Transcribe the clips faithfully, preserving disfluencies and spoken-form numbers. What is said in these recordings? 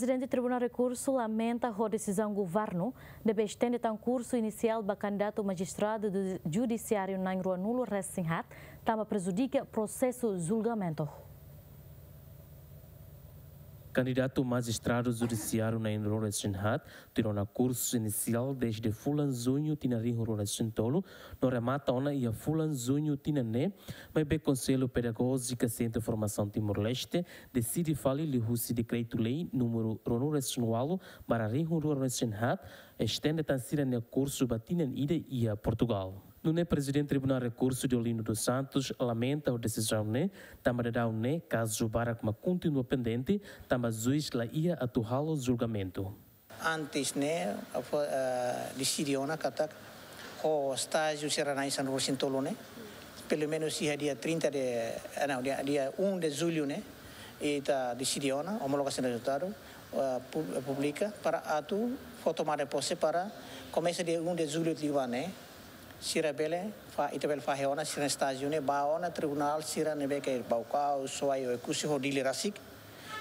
Prezidente Tribunál Rekursu lamenta ho desizaun governu ne'ebé estende tan kursu inisiál ba kandidatu majistradu du-, judisiáriu na'in ruanulu resin haat, tanba prejudika prosesu julgamentu. Kandidatu majistradu judisiáriu na'in ruanulu resin haat tuir ona kursu inisiál dezde fulan juñu tinan rihun rua resin tolu, no remata ona iha fulan juñu tinan ne'e, maibé Konsellu Pedagójika Sentru Formasaun Timor-Leste deside fali liuhusi Dekretu-Lei númeru ruanulu resin ualu barra rihun rua resin haat, estende tan sira-nia kursu ba tinan ida iha Portugal. Nune'e Prezidente Tribunál Rekursu Deolindo dos Santos lamenta ho desizaun ne'e, tanba daudaun ne'e kazu barak mak kontinua pendente, tanba juís la iha atu halo julgamentu. Antes ne'e, fó, eh, deside ona katak ho estájiu sira na'in sanulu resin tolu ne'e, pelumenus iha dia trinta de, eh, não, dia, dia um de julho ne'e, ita deside ona, homologasaun rezultadu, eh, pu-, publika para atu fó tomada de pose para komesa dia um de julho liubá ne'e, sira bele fa-, ita bele fahe ona sira estájiu ne'e, ba ona tribunál sira ne'ebé ke Baucau, Suai, Oekusi ho Dili rasik,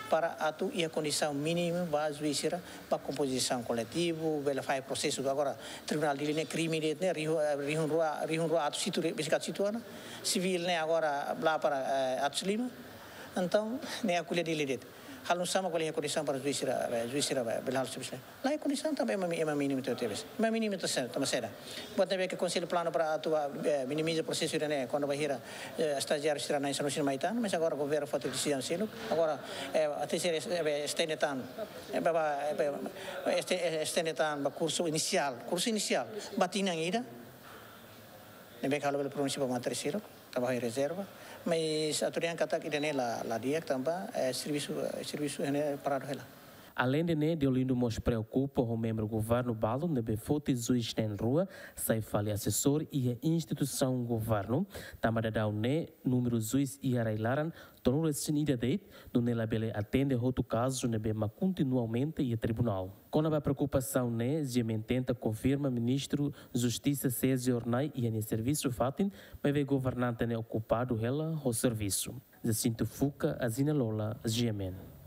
para atu iha kondisaun mínimu ba juís sira ba kompozisaun koletivu, bele fahe prosesu. Agora, Tribunál Dili ne'e krime de'it ne'e, rihun, eh, rihun rua, rihun rua atus hitu, besik atus hitu ona, sivíl ne'e agora la para, eh, atus lima. Entaun, ne'e akolla Dili de'it. Halo nu'usá mak bele iha kondisaun para juís sira, eh, juís sira bele halo servisu. La iha kondisaun tanba ema mi-, ema mínimu tebes. Ema mínimu tebes, tanba saida? Buat ne'ebé ke Konsellu planu para atu, eh, minimiza prosesu ida-ne'e, kuandu bainhira, eh, estajiáriu sira na'in sanulu resin mai tan, mas agora governu foti desizaun seluk. Agora, eh, atu sira, eh, estende tan, eh, ba, ba, eh, ba, este-, eh, estende tan ba kursu inisiál, kursu inisiál, ba tinan ida. Ne'ebé ke halo bele pronunsia ba matéria seluk, tanba iha rezerva. Mas atu dehan katak ida-ne'e la, la di'ak tanba, eh, servisu, eh, servisu ne'e paradu hela. Aleinde ne'e, Deolindo mós preokupa ho membru governu balu ne'ebé foti juís na'in rua sai fali asesór iha instituisaun governu, tanba daudaun ne'e númeru juís iha rai-laran tolu resin ida de'it, nune'e labele atende hotu kazu ne'ebé mak kontinua aumenta iha tribunál. Kona-ba preokupasaun ne'e, GMN tenta konfirma Ministru Justisa Sérgio Hornai iha nia servisu fatin, maibé governante ne'e okupadu hela ho servisu. Jacinto Fuca, Azina Lola, GMN.